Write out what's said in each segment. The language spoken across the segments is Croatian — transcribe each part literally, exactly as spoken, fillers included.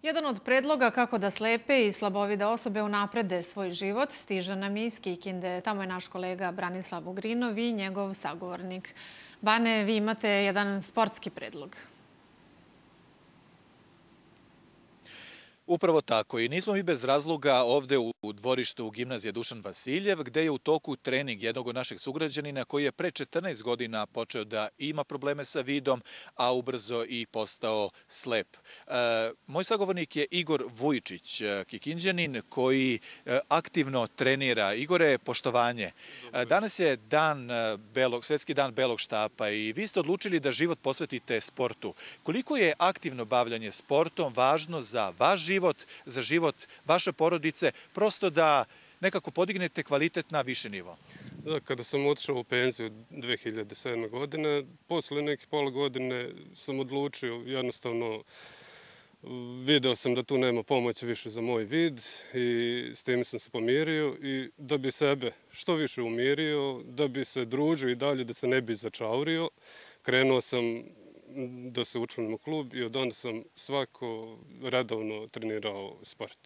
Jedan od predloga kako da slepe i slabovide osobe unaprede svoj život stiže nam iz Kikinde. Tamo je naš kolega Branislav Ugrinov i njegov sagovornik. Bane, vi imate jedan sportski predlog. Upravo tako. I nismo mi bez razloga ovde u dvorištu gimnazije Dušan Vasiljev, gde je u toku trening jednog od naših sugrađanina koji je pre četrnaest godina počeo da ima probleme sa vidom, a ubrzo i postao slep. E, moj sagovornik je Igor Vujičić, Kikinđanin, koji aktivno trenira. Igore, poštovanje. Danas je dan belog, svetski dan belog štapa i vi ste odlučili da život posvetite sportu. Koliko je aktivno bavljanje sportom važno za vaš život, život, za život vaše porodice, prosto da nekako podignete kvalitet na više nivo? Da, kada sam otišao u penziju dve hiljade sedme. godine, posle neke pola godine sam odlučio, jednostavno video sam da tu nema pomoći više za moj vid i s tim sam se pomirio i da bi sebe što više umirio, da bi se družio i dalje, da se ne bi začaurio, krenuo sam da se učlanim u klub i od onda sam svako redovno trenirao sport.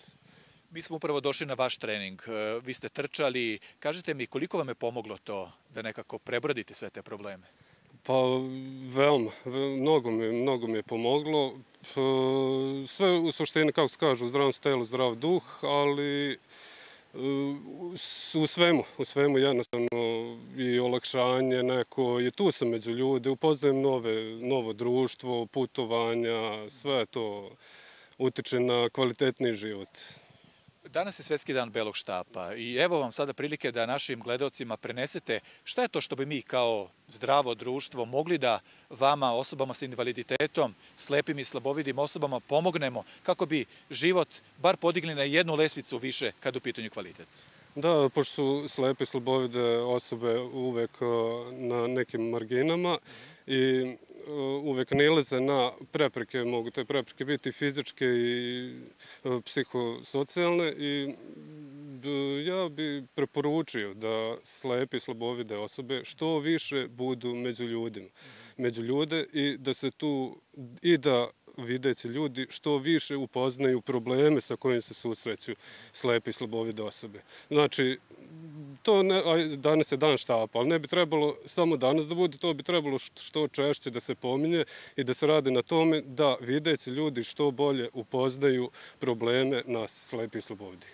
Mi smo upravo došli na vaš trening. Vi ste trčali. Kažite mi koliko vam je pomoglo to da nekako prebrodite sve te probleme? Pa veoma, mnogo mi, mnogo mi je pomoglo. Sve u suštini, kako se kaže, u zdravom telu, zdrav duh, ali u svemu, u svemu jednostavno i olakšanje neko, je tu sam među ljude, upoznajem nove, novo društvo, putovanja, sve to utiče na kvalitetniji život. Danas je svetski dan belog štapa i evo vam sada prilike da našim gledaocima prenesete šta je to što bi mi kao zdravo društvo mogli da vama, osobama sa invaliditetom, slepim i slabovidim osobama pomognemo kako bi život bar podigli na jednu lesvicu više kada u pitanju kvalitet. Da, pošto su slepe i slabovide osobe uvek na nekim marginama i uvek nailaze na prepreke, mogu te prepreke biti fizičke i psihosocijalne i ja bi preporučio da slepe i slabovide osobe što više budu među ljudima, među ljude i da se tu i da videći ljudi što više upoznaju probleme sa kojim se susreću slepe i slabovide osobe. Znači, to ne, danas je dan štapa, ali ne bi trebalo samo danas da bude, to bi trebalo što češće da se pominje i da se radi na tome da videći ljudi što bolje upoznaju probleme nas slepe i slabovidi.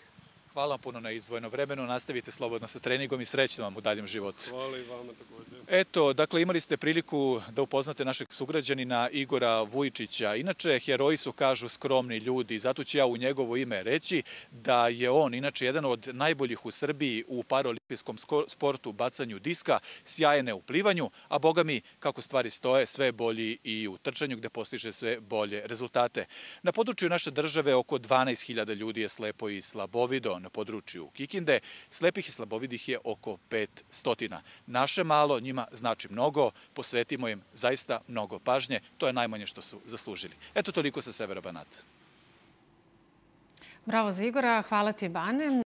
Hvala vam puno na izdvojeno vremenu. Nastavite slobodno sa treningom i srećno vam u daljem životu. Hvala i vama također. Eto, dakle, imali ste priliku da upoznate našeg sugrađanina Igora Vujičića. Inače, heroji su, kažu, skromni ljudi. Zato ću ja u njegovo ime reći da je on, inače, jedan od najboljih u Srbiji u paraolimpijskom sportu, bacanju diska, sjajne u plivanju, a boga mi, kako stvari stoje, sve bolji i u trčanju gde postiže sve bolje rezultate. Na području naše države oko dvanaest hiljada ljudi je slepo i slabovido. Na području Kikinde slepih i slabovidih je oko petsto. Naše malo njima znači mnogo, posvetimo im zaista mnogo pažnje, to je najmanje što su zaslužili. Eto toliko sa severa Banata. Bravo za Igora, hvala ti Bane.